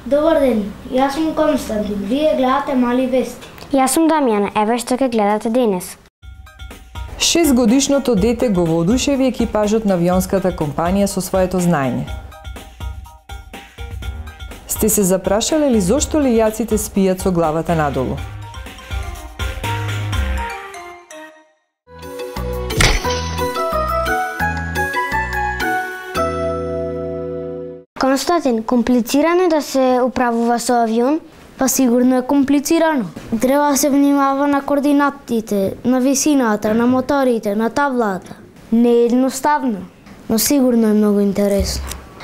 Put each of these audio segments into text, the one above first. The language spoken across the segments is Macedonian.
Добар ден, јас сум Константин, вие гледате Мали вести. Јас сум Дамјана, еве што ќе гледате денес. 6-годишното дете го воодушеви екипажот на авионската компанија со своето знаење. Сте се запрашале ли зошто лилјаците спијат со главата надолу? Константин, комплицирано е да се управува со авион? Па сигурно е комплицирано. Треба да се внимава на координатите, на висината, на моторите, на таблата. Не е едноставно, но сигурно е многу интересно.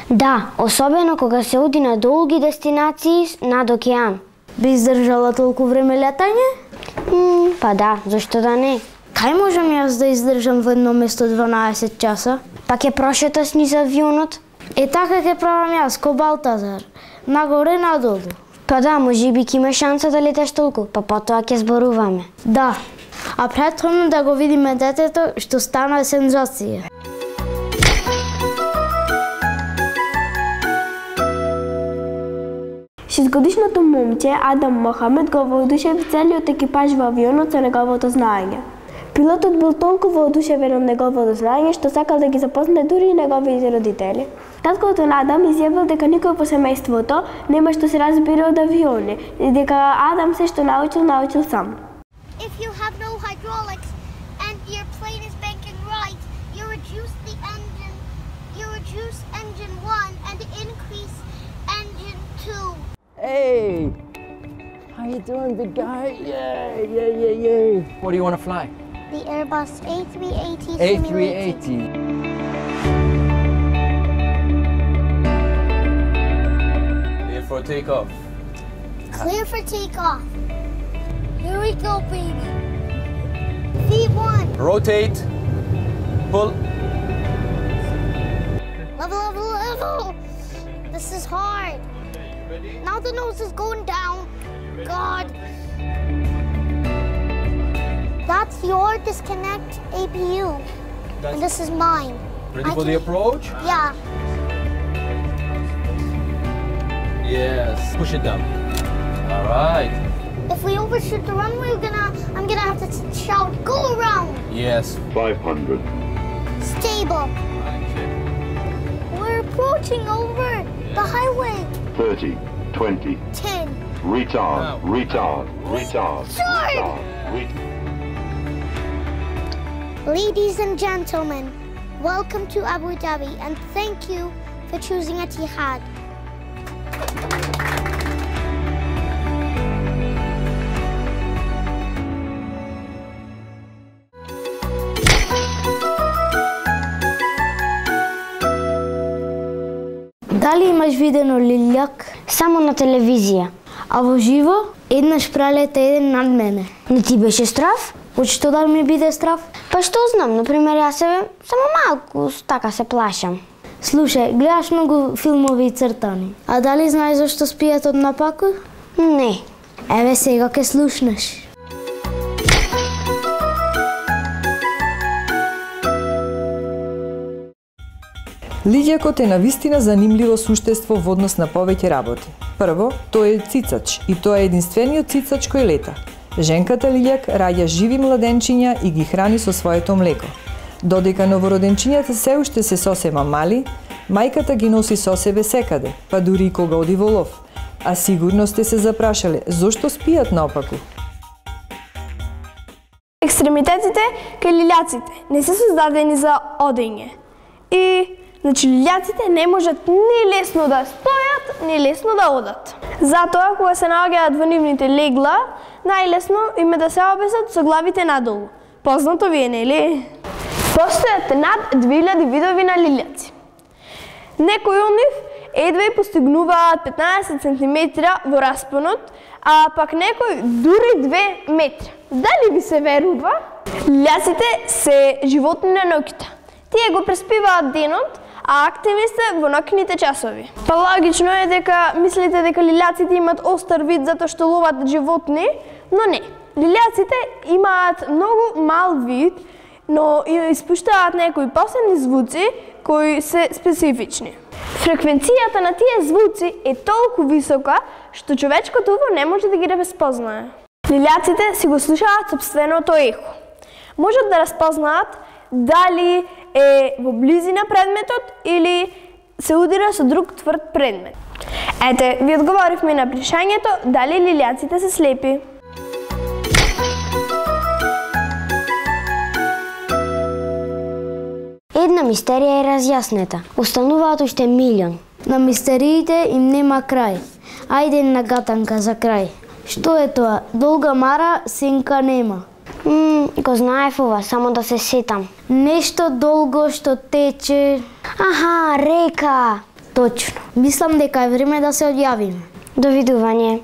Да, особено кога се оди на долги дестинации над океан. Би издржала толку време летање? Па да, зашто да не? Кај можам јас да издржам во едно место 12 часа? Па ќе прошеташ низ авионот? Така ќе правам јас, ко Балтазар. Нагоре, надолу. Па да, можеби ќе имаш шанса да леташ толку, па потоа ќе зборуваме. Да, а претходно да го видиме детето што стана сензација. Шестгодишното момче Адам Мохамед го воодушеви целиот екипаж во авионот со неговото знаење. Пилотот бил толку воодушевен од неговото знаење што сакал да ги запознае дури и неговите родители. Таткото на Адам изјавил дека никој во семејството нема што се разбира од авиони и дека Адам се што научил сам. If you have no hydraulics and your plane is banking right, you reduce engine 1 and increase engine 2. Hey! How you doing, big guy? Yay! What do you want to fly? The Airbus A380 simulator. A380. Clear for takeoff. Clear for takeoff. Here we go, baby. V1. Rotate. Pull. Level. This is hard. Ready? Now the nose is going down. God. That's your disconnect APU. And this is mine. Ready for the approach? Yeah. Yes. Push it down. All right. If we overshoot the runway, I'm gonna have to shout, "Go around!" Yes. 500. Stable. We're approaching over the highway. 30. 20. 10. Retard. Sorry. Ladies and gentlemen, welcome to Abu Dhabi and thank you for choosing Etihad. Дали имаш видено лилјак? Само на телевизија. А во живо, еднаш прелета еден над мене. Не ти беше страв? Од што да ми биде страв? Па што знам, например, јас само малку така се плашам. Слушај, гледаш многу филмови и цртани. А дали знаеш зашто спијат од напаку? Не. Еве сега ке слушнеш. Лилјакот е навистина занимливо суштество во однос на повеќе работи. Прво, тој е цицач и тоа е единствениот цицач кој лета. Женката лилјак раѓа живи младенчиња и ги храни со своето млеко. Додека новороденчињата се уште се сосема мали, мајката ги носи со себе секаде, па дури и кога оди во лов. А сигурно сте се запрашале зошто спијат наопаку. Екстремитетите кај лилјаците не се создадени за одење. И значи лилјаците не можат ни лесно да стојат, ни лесно да одат. Затоа, кога се наоѓаат во нивните легла, најлесно им е да се обесат со главите надолу. Познато ви е, нели? Постојат над 2000 видови на лилјаци. Некои од нив едва и постигнуваат 15 см во распонот, а пак некои дури 2 метри. Дали ви се верува? Лилјаците се животни на ноќта. Тие го преспиваат денот, а активни сте во ноќните часови. Па логично е дека мислите дека лилјаците имаат остар вид затоа што ловат животни, но не. Лилјаците имаат многу мал вид, но испуштаат некои посебни звуци кои се специфични. Фреквенцијата на тие звуци е толку висока што човечкото уво не може да ги разпознае. Лилјаците си го слушаат сопственото ехо. Можат да разпознаат дали е во близина предметот или се удира со друг тврд предмет. Ете, ви одговоривме на прашањето дали лилјаците се слепи. Една мистерија е разјаснета. Остануваат уште милион. На мистериите им нема крај. Ајде на гатанка за крај. Што е тоа? Долга мара, сенка нема. Го знаев ова, само да се сетам. Нешто долго што тече. Аха, река. Точно. Мислам дека е време да се одјавиме. Довидување.